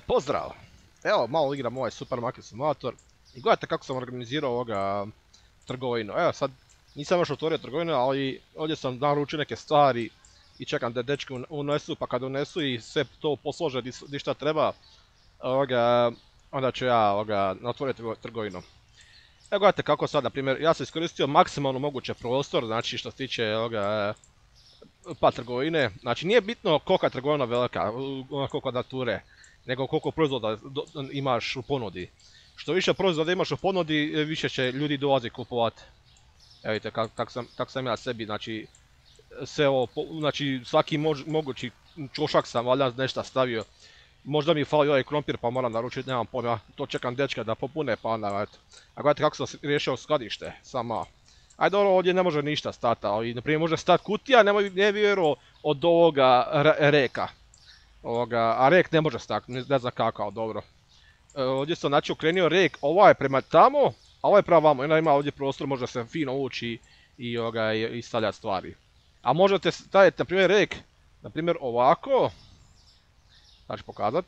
Pozdrav! Evo, malo igram ovaj Supermarket Simulator i gledajte kako sam organizirao ovoga trgovinu. Evo sad, nisam još otvorio trgovinu, ali ovdje sam naručio neke stvari i čekam da dečki unesu, pa kad unesu i sve to poslože di šta treba, onda ću ja otvoriti trgovinu. Evo gledajte kako sad, na primjer, ja sam iskoristio maksimalno moguće prostor, znači što se tiče pa trgovine. Znači nije bitno kolika je trgovina velika, koliko kvadrature, nego koliko proizvoda imaš u ponudi. Što više proizvoda imaš u ponudi, više će ljudi dolazi kupovati. Evo vidite kak sam ja sebi, znači, sve ovo, znači svaki mogući čošak sam valjda nešto stavio. Možda mi fali ovaj krompir pa moram naručiti, nemam pojma, to čekam dečka da popune pa onda eto. A gledajte kako sam riješio skladište, sama. Ajde dobro, ovdje ne može ništa stati, ali naprimjer može stati kutija, ne vjerujem od ovoga reka. A rek ne može stati, ne znam kako, dobro. Ovdje sam znači okrenio rek, ovaj je prema tamo, a ovaj je prema vamo. Onda ima ovdje prostor, može se fino ući i stavljati stvari. A možete staviti, na primjer, rek, na primjer ovako. Znači pokazat.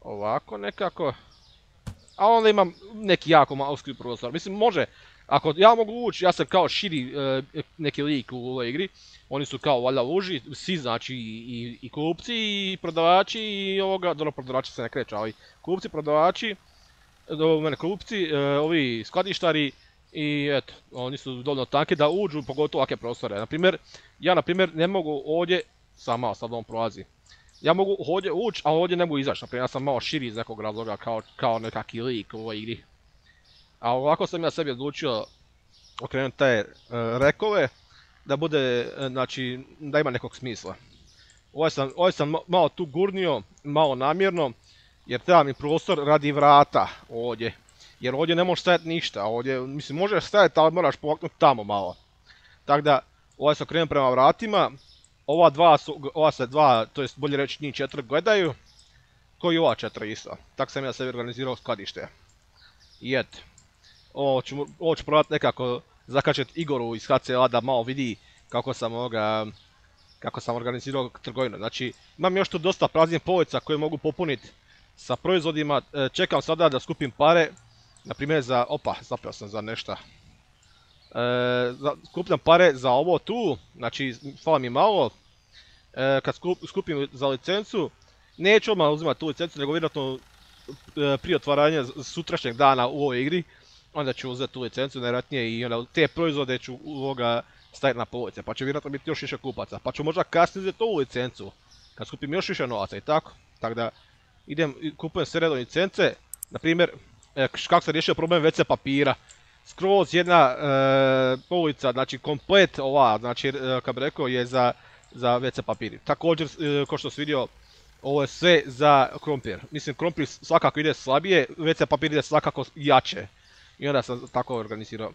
Ovako nekako. A onda imam neki jako malski prostor. Mislim, može, ako ja mogu ući, ja sam kao širi neki lik u ovoj igri. Oni su kao valjda uži, svi znači i kupci i prodavači i dobro prodavači se ne kreću, ali kupci, prodavači, kupci, ovi skladištari i eto, oni su dovoljno tanki da uđu pogotovo ovakve prostore. Ja ne mogu ovdje, sad on prolazi. Ja mogu ovdje ući, a ovdje ne mogu izaći, naprimjer ja sam malo širi iz nekog razloga kao nekakvi lik u ovoj igri. A ovako sam ja sebi odlučio okrenuti te rekove, da bude, znači, da ima nekog smisla. Ovaj sam malo tu gurnio, malo namjerno, jer treba mi prostor radi vrata ovdje. Jer ovdje ne možeš stajati ništa, ovdje, mislim, možeš stajati, ali moraš povaknuti tamo malo. Tako da, ovaj sam okrenuo prema vratima, ova se dva, to jest bolje reći njih 4 gledaju, ko i ova 4 isto. Tako sam ja sebi organizirao skladište. I eto, ovo ću probati nekako zakačeti Igoru iz HCL da malo vidi kako sam organizirao trgovinu. Znači, imam još tu dosta praznih polica koje mogu popuniti sa proizvodima. Čekam sada da skupim pare, na primjer zapeo sam za nešto. Skupljam pare za ovo tu, znači fala mi malo. Kad skupim za licencu, neću odmah uzimati tu licencu, nego vjerojatno prije otvaranja sutrašnjeg dana u ovoj igri, onda ću uzeti tu licencu najvjerojatnije i onda te proizvode ću staviti na police, pa će vjerojatno biti još više kupaca, pa ću možda kasnije uzeti ovu licencu, kad skupim još više novaca i tako. Tako da kupujem sve redom licence, na primjer, kako sam riješio problem WC papira. Skroz jedna polica, znači komplet ova, znači kako bi rekao je za WC papiri. Također, kao što si vidio, ovo je sve za krompir. Mislim, krompir svakako ide slabije, WC papir ide svakako jače. I onda sam tako organizirao.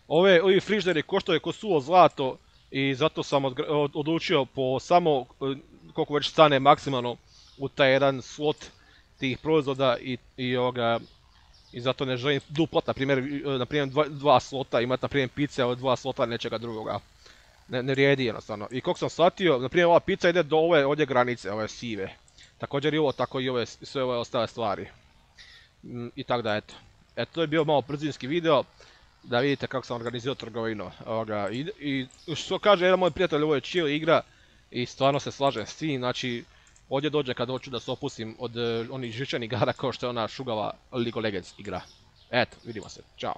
Ovi frižideri koštaju ko suvo zlato i zato sam odlučio po samo koliko već stane maksimalno u taj jedan slot tih proizvoda i zato ne želim duplat, na primjer 2 slota, imati na primjer pice od 2 slota nečega drugoga. Ne vrijedi jednostavno. I kako sam shvatio, na primjer ova pizza ide do ove ovdje granice, ove sive. Također i ovo, tako i sve ove ostale stvari. I tako da eto. Eto, to je bio malo brzinski video, da vidite kako sam organizirao trgovinu. I što kaže jedan moj prijatelj, ovo je chill igra i stvarno se slažem s tim, znači ovdje dođe kad hoću da se opustim od onih žičanih igara kao što je ona šugava League of Legends igra. Eto, vidimo se, čao.